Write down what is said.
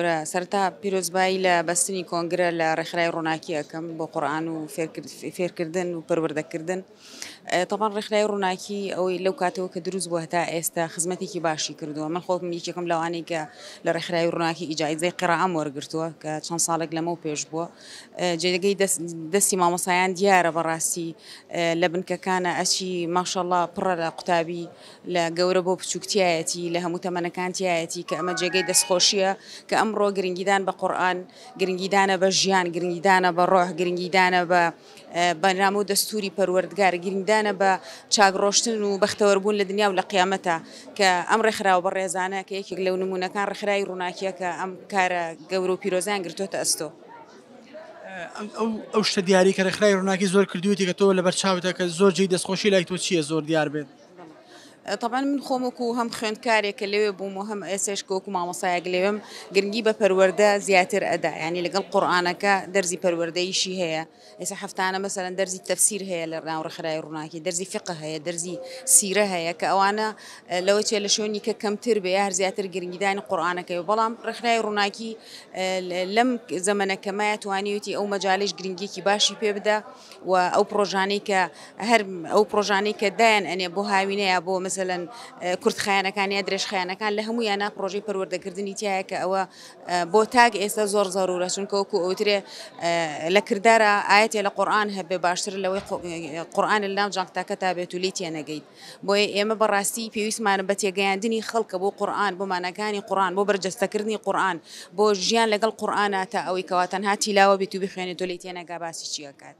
سەرەتا پیرۆزبایی لە بەستنی کۆنگرە لە ڕێکخراوی ڕووناکی ئەکەم بۆ قورئان و فێرکردن و پەروەردەکردن. تەبعەن ڕێکخراوی ڕووناکی ئەوەی لەو کاتەوە کە دروست بووە هەتا ئێستا خزمەتێکی باشی کردووە. من خۆم یەکێکم لەوانەی کە لە ڕێکخراوی ڕووناکی ئیجازەی قیڕائەم وەرگرتووە کە چەند ساڵێک لەمەو پێش بووە. جێگەی دەستی مامۆستایان دیارە بەڕاستی لە بنکەکانە ئەچی ماشەڵا پڕە لە قوتابی لە گەورە بۆ بچووک تیایەتی، لە هەموو تەمەنەکان تیایەتی، کە ئەمە جێگەی دەستخۆشییە کە ئەمڕۆ گرنگیدان بە قورئان، گرنگیدانە بە ژیان، گرنگیدانە بە ڕۆح، گرنگیدانە بە بەرنامە و دەستووری پەروەردگار، گرنگیدانە بە چاک ڕۆشتن و بەختەوەربوون لە دنیا و لە قیامەتا، کە ئەم ڕێکخراوە بەڕێزانە کە یەکێک لەو نموونەکان ڕێکخراوی ڕووناکییە کە ئەم کارە گەورە و پیرۆزەیان گرتۆتە ئەستۆ. ئەو شتە دیاری کە ڕێکخراوی ڕووناکی زۆر کردوویەتی کە تۆ لەبەر چاوتە کە زۆر جێی دەستخۆشی لای تۆ چییە زۆر دیار بێت؟ تەبعەن من خۆم وەکو هەم خوێندکارێک کە لەوێ بووم و هەم ئێسێش کە وەکو مامۆستایەک لەوێم گرنگی بە پەروەردە زیاتر ئەدا یانی لەگەڵ قورئانەکە دەرزی پەروەردەیشی هەیە ئێستا هەفتانە مەسەلەن دەرزی تەفسیر هەیە لە ناو ڕێکخراوی ڕووناکی دەرزی فیقە هەیە دەرزی سیرە هەیە کە ئەوانە لەوە چێ لە شوێنی کە کەمتر بێ یا هەر زیاتر گرنگیدانی قورئانەکەی بەڵام ڕێکخراوی ڕووناکی لەم زەمەنە کەمایە توانیویەتی ئەو مەجالەیش گرنگیەکی باشی پێ بدا و ئەو پڕۆژانەی کە هەر ئەو پڕۆژانەی کە دایان ئەنێ بۆ هاوینە یا بۆ مەسەلەن کورتخایەنەکان یا درێژخایەنەکان لە هەموویانە پڕۆژەی پەروەردەکردنی تایە کە ئەوە بۆ تاک ئێستا زۆر زەرورە چونکە وەکو ئەوترێ لە کردارە ئاەتێ لە قورئان هەبێ باشتر لەوەی قورئان لە ناو جانتاکەتا بێت و لێی تێنەگەیت. بۆیە ئێمە بەڕاستی پێویستمانە بە تێگەیاندنی خەڵکە بۆ قورئان، بۆ ماناکانی قورئان، بۆ بەرجەستەکردنی قورئان، بۆ ژیان لەگەڵ قورئانا تا ئەوەی کەوا تەنها تیلاوە بێت و بیخوێنێت و لێی تێنەگا باسی چی ئەکات.